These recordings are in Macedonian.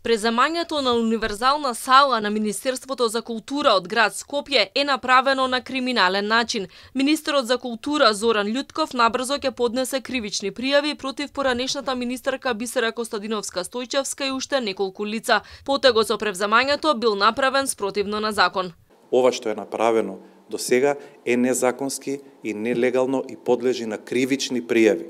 Преземањето на универзална сала на Министерството за култура од град Скопје е направено на криминален начин. Министерот за култура Зоран Љутков набрзо ќе поднесе кривични пријави против поранешната министерка Бисера Костадиновска-Стојчевска и уште неколку лица. Потегот со превземањето бил направен спротивно на закон. Ова што е направено до сега е незаконски и нелегално и подлежи на кривични пријави.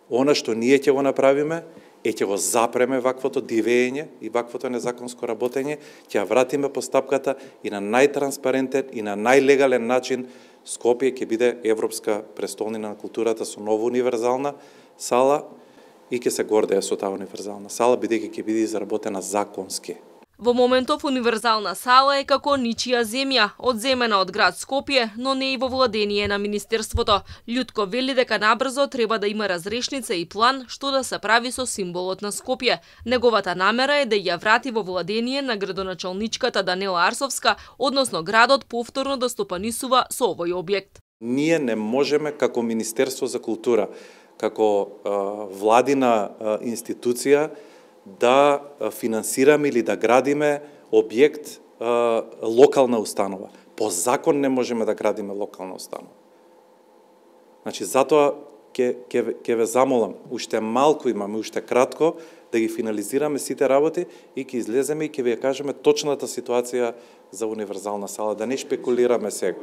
Она што ние ќе го направиме ќе го запреме ваквото дивење и ваквото незаконско работење, ќе ја вратиме постапката и на најтранспарентен и на најлегален начин Скопје ќе биде европска престолнина на културата со нова универзална сала и ќе се гордее со таа универзална сала, бидејќи ќе биде изработена законски. Во моментов универзална сала е како ничија земја, одземена од град Скопје, но не и во владение на Министерството. Љутко вели дека набрзо треба да има разрешница и план што да се прави со символот на Скопје. Неговата намера е да ја врати во владение на градоначалничката Данела Арсовска, односно градот повторно да стопанисува со овој објект. Ние не можеме како Министерство за култура, како владина институција, да финансираме или да градиме објект локална установа. По закон не можеме да градиме локална установа. Значи, затоа ќе ве замолам, уште малку имаме, уште кратко, да ги финализираме сите работи и ќе излеземе и ќе ви ја кажеме точната ситуација за универзална сала, да не шпекулираме сега.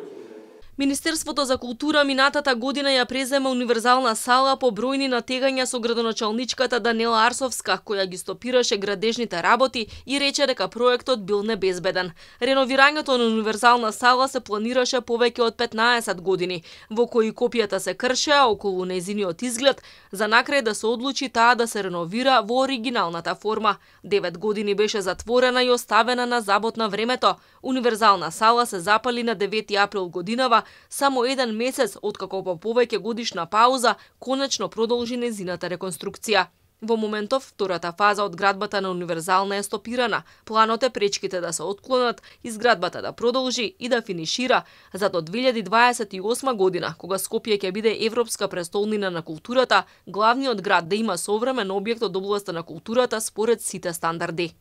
Министерството за култура минатата година ја презема универзална сала по бројни натегања со градоначалничката Данела Арсовска, која ги стопираше градежните работи и рече дека проектот бил небезбеден. Реновирањето на универзална сала се планираше повеќе од 15 години, во кои копијата се кршеа околу нејзиниот изглед, за накрај да се одлучи таа да се реновира во оригиналната форма. 9 години беше затворена и оставена на забот на времето. Универзална сала се запали на 9 април годинава, само еден месец откако по повеќе годишна пауза конечно продолжи нејзината реконструкција. Во моментов, втората фаза од градбата на универзална е стопирана. Планот е пречките да се отклонат, изградбата да продолжи и да финишира, за до 2028 година, кога Скопје ќе биде европска престолнина на културата, главниот град да има современ објект од областа на културата според сите стандарди.